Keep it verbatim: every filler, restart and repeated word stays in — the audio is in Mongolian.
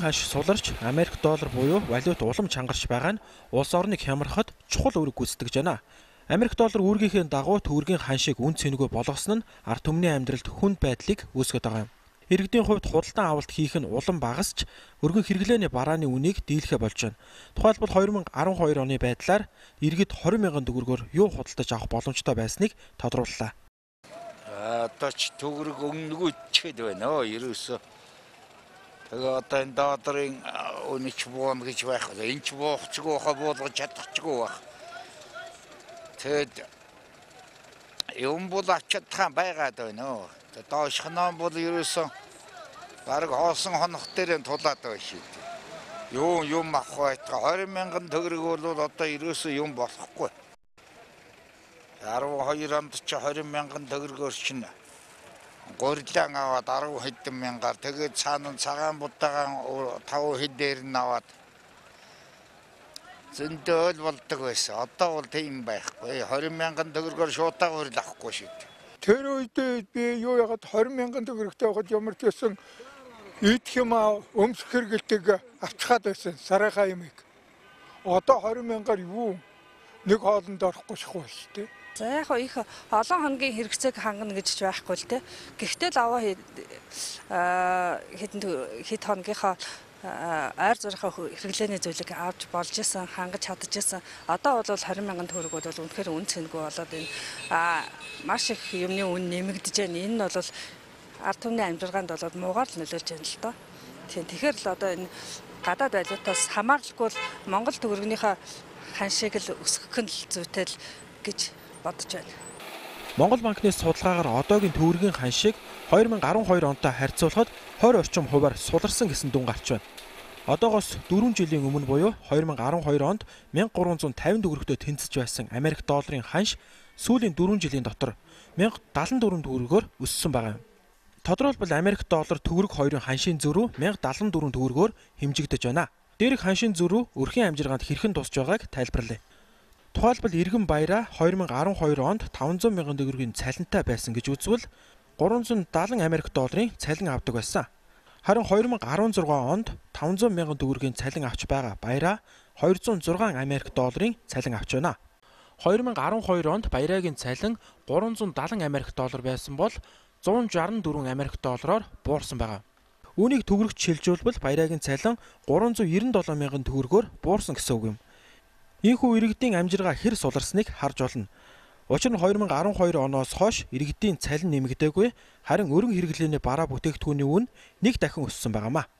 ханш суларч Америк доллар буюу валют улам чангарч байгаа нь улс орныг хямрахад чухал үүрэг гүйцэтгэж байна. Америк доллар үүргийнхээ дагуу төгрөгийн ханшийг үн цэнэгүй болгосон нь ард түмний амьдралд хүнд байдлыг үүсгэж байгаа юм. Иргэдийн хувьд худалдан авалт хийх нь улам багасч өргөн хэрэглээний барааны үнийг дийлэхэ болж байна. Тухайлбал хоёр мянга арван хоёр оны байдлаар иргэд хорин мянган төгрөгөөр юу худалдаж авах боломжтой байсныг тодрууллаа. Одоо ч төгрөг өнгөнгүй чихэд байна оо ерөөсөө. Тэгээ одоо энэ долларын үнэч буун гэж байх. Энэ ч буухчгүй хаа буулгаж чадчихгүй байх. Тэгэд юм бол ачаадхан байгаад байна оо. Доошхноо бол ерөөсөө бараг хоосон хонох дээр нь тулаад байна шүү дээ. Юу юм авах байтга хорин мянган төгрөг бол одоо ерөөсөө юм болохгүй. арван хоёр онд ч хорин мянган төгрөгөөр чинь гурилан аваад арван хэдэн мянгаар тэгээд цаана цагаан будаагаан таван хэдээр нь аваад зөндөөл болдог байсан. Одоо бол тийм байхгүй. хорин мянган төгрөгөөр шуудаа гурил авахгүй шүү дээ. Тэр үед би юу ягаад хорин мянган төгрөгтэй байхад ямар ч байсан идэх юм өмсөх хэрэгэлтийг авчихад байсан сарайхаа юмыг. Одоо хорин мянгаар юу нэг хоолнд орохгүй шахуу шүү дээ. За яг их олон хоногийн хэрэгцээг хангана гэж байхгүй л те. Гэхдээ л аваа хэдэн хэд хоногийнхаа ойр зурхаа хэрэглээний зүйлийг авч болж исэн, хангаж чадчихсан. Одоо бол хорин мянган төгрөг бол үнэхээр үн цэнэгүй болоод энэ маш их юмны үн нэмэгдэж байна. Энэ нь бол ард түмний амьдралгаанд бол муугаар л нөлөөлж байна л доо. Тийм тэгэхээр л одоо энэ гадаад валютаас хамааралгүй л Монгол төгрөгнийхөө ханшийг л өсгөх нь л зүйтэй л гэж бодож байна. Монгол банкны судалгаагаар одоогийн төгрөгийн ханшийг хоёр мянга арван хоёр онтой харьцуулахад хорь орчим хувиар суларсан гэсэн дүн гарч байна. Одоогоос дөрвөн жилийн өмнө буюу хоёр мянга арван хоёр онд мянга гурван зуун тавин төгрөгтөд тэнцэж байсан Америк долларын ханш сүүлийн дөрвөн жилийн дотор мянга дадлан дөрвөн төгрөгөөр өссөн байгаа юм. Тодорхойлбол Америк доллар төгрөг хоёрын ханшийн зөрүү мянга дадлан дөрвөн төгрөгөөр хэмжигдэж байна. Дээрх ханшийн зөрүү өрхийн амжиргаанд хэрхэн тусч байгааг тайлбарлая. Тухайлбал Иргэн баяраа хоёр мянга арван хоёр онд таван зуун мянган төгрөгийн цалинтай байсан гэж үзвэл гурван зуун дадлан Америк долларын цалин авдаг байсан. Харин хоёр мянга арван зургаан онд таван зуун мянган төгрөгийн цалин авч байгаа баяраа хоёр зуун зургаан Америк долларын цалин авч байна. хоёр мянга арван хоёр онд баяраагийн цалин гурван зуун дадлан Америк доллар байсан бол зуун шарсан дөрвөн Америк доллараар буурсан байгаа. Үүнийг төгрөгт шилжүүлбэл баяраагийн цалин гурван зуун ерөн долоон мянган төгрөгөөр буурсан гэсэн үг юм. Ийхүү иргэдийн амжиргаа хэр суларсныг харж болно. Учир нь хоёр мянга арван хоёр оноос хойш иргэдийн цалин нэмэгдээгүй, харин өргөн хэрэглээний бараа бүтээгдэхүүний үн нэг дахин өссөн байгаамаа.